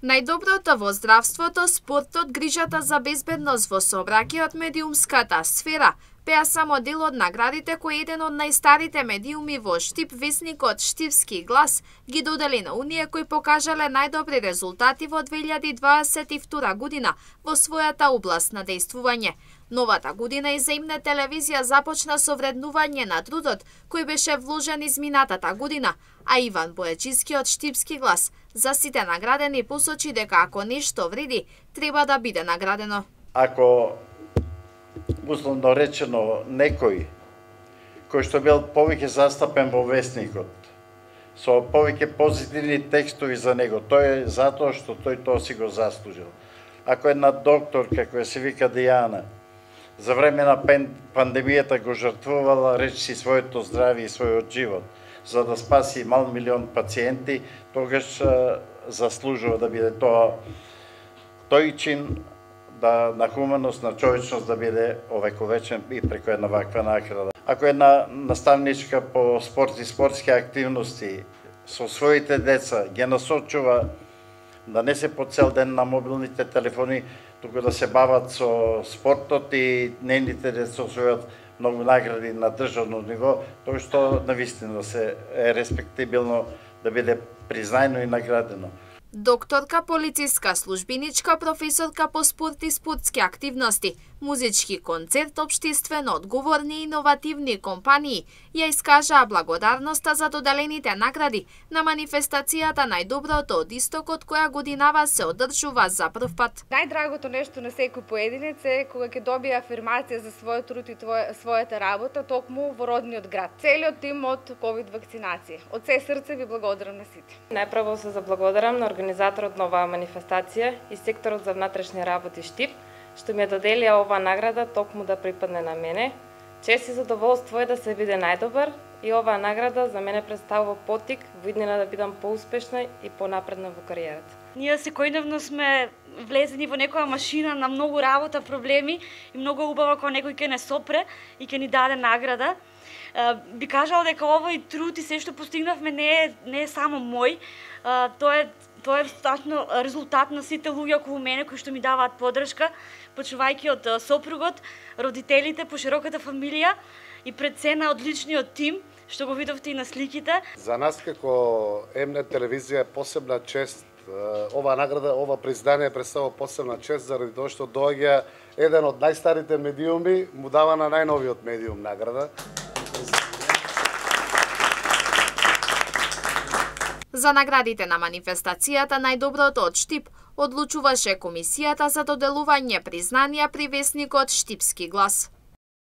Најдоброто во здравството, спортот, грижата за безбедност во сообраќајот, медиумската сфера беа само дел од наградите кои еден од најстарите медиуми во Штип, весникот Штипски глас, ги додели на оние кои покажале најдобри резултати во 2022 година во својата област на дејствување. Новата година и земна телевизија започна со вреднување на трудот кој беше вложен изминатата година, а Иван Бојачиски од Штипски глас за сите наградени посочи дека ако нешто вреди, треба да биде наградено. Ако условно речено некој кој што бил повеќе застапен во весникот, со повеќе позитивни текстови за него, тој е затоа што тој тоа си го заслужил. Ако една докторка која се вика Дијана, за време на пандемијата го жртвувала речиси своето здравје и својот живот, за да спаси мал милион пациенти, тогаш заслужува да биде тоа тој чин на хуманост, на човечност да биде овековечен и преку една ваква награда. Ако една наставничка по спорт и спортски активности со своите деца ги насочува да не се по цел ден на мобилните телефони, туку да се бават со спортот и нейните деца освојат многу награди на државно ниво, тоа што навистина се е респектибилно да биде признаено и наградено. Докторка, полициска службиничка, професорка по спорт и спортски активности, музички концерт, општествено одговорни и иновативни компании ја искажаа благодарноста за доделените награди на манифестацијата Најдоброто од Истокот, која годинава се одржува за прв пат. Најдрагото нешто на секој поединец е кога ќе добие афирмација за својот труд и својата работа токму во родниот град. Целиот тим од ковид вакцинација. Од се срце ви благодарам на сите. Најпрво се заблагодарам на организаторот на оваа манифестација и секторот за внатрешни работи Штип, што ми ја доделија оваа награда токму да припадне на мене. Чест и задоволство е да се биде најдобар и оваа награда за мене представува поттик во иднина да бидам поуспешна и понапредна во кариерата. Ние секојдневно сме влезени во некоја машина на многу работа, проблеми и многу убаво кога некој ќе не сопре и ќе ни даде награда. Би кажала дека овој труд и се што постигнавме не е само мој, тоа е стачно резултат на сите луѓе околу мене кои што ми даваат подршка, почнувајќи од сопругот, родителите, пошироката фамилија и пред се на одличниот тим, што го видовте и на сликите. За нас како М-нет телевизија е посебна чест. Ова награда, ова признание представува посебна чест заради тоа што доаѓа еден од најстарите медиуми, му дава на најновиот медиум награда. За наградите на манифестацијата Најдоброто од Штип одлучуваше комисијата за доделување признанија при весникот Штипски глас.